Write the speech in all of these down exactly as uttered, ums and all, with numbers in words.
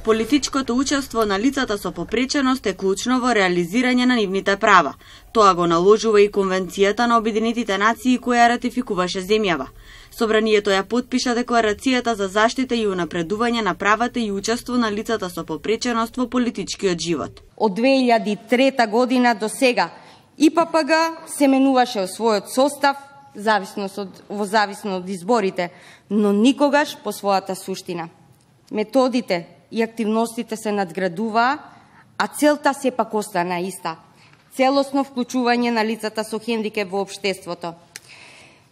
Политичкото учество на лицата со попреченост е клучно во реализирање на нивните права. Тоа го наложува и Конвенцијата на Обединетите нации која ратификуваше земјава. Собранието ја потпиша Декларацијата за заштита и унапредување на правата и учество на лицата со попреченост во политичкиот живот. Од две илјади и трета година до сега И П П Г се менуваше во својот состав, зависност од, во зависно од изборите, но никогаш по својата суштина. Методите и активностите се надградуваа, а целта сепак остана иста – целосно вклучување на лицата со хендикеп во општеството.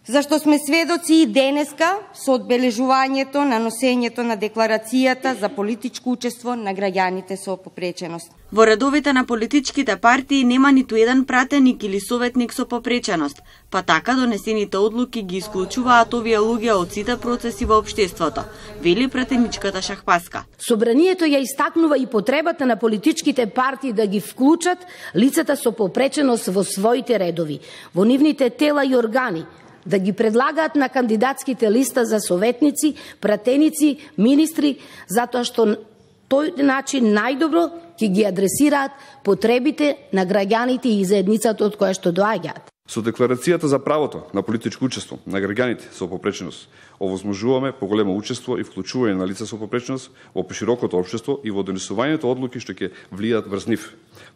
Зашто сме сведоци и денеска со одбележувањето на носењето на Декларацијата за политичко учество на граѓаните со попреченост. Во редовите на политичките партии нема ниту еден пратеник или советник со попреченост, па така донесените одлуки ги исклучуваат овие луѓе од сите процеси во општеството, вели пратеничката Шахпаска. Собранието ја истакнува и потребата на политичките партии да ги вклучат лицата со попреченост во своите редови, во нивните тела и органи, да ги предлагаат на кандидатските листа за советници, пратеници, министри, затоа што тој начин најдобро ќе ги адресираат потребите на граѓаните и заедницата од која што доаѓаат. Со Декларацијата за правото на политичко учество на граѓаните со попреченост овозможуваме поголемо учество и вклучување на лица со попреченост во поширокото општество и во донесувањето одлуки што ќе влијаат врз нив,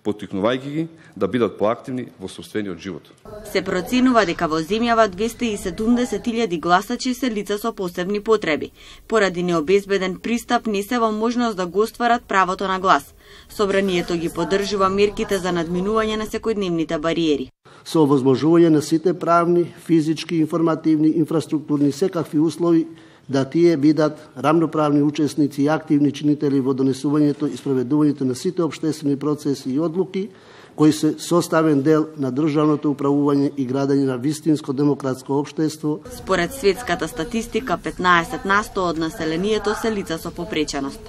поттикнувајќи ги да бидат поактивни во сопствениот живот. Се проценува дека во земјава двесте и седумдесет илјади гласачи се лица со посебни потреби. Поради необезбеден пристап не се во можност да го остварат правото на глас. Собранието ги поддржува мерките за надминување на секојдневните бариери. Со овозможување на сите правни, физички, информативни, инфраструктурни секакви услови да тие бидат рамноправни учесници и активни чинители во донесувањето и спроведувањето на сите општествени процеси и одлуки кои се составен дел на државното управување и градење на вистинско демократско општество. Според светската статистика, петнаесет на сто од населението се лица со попреченост.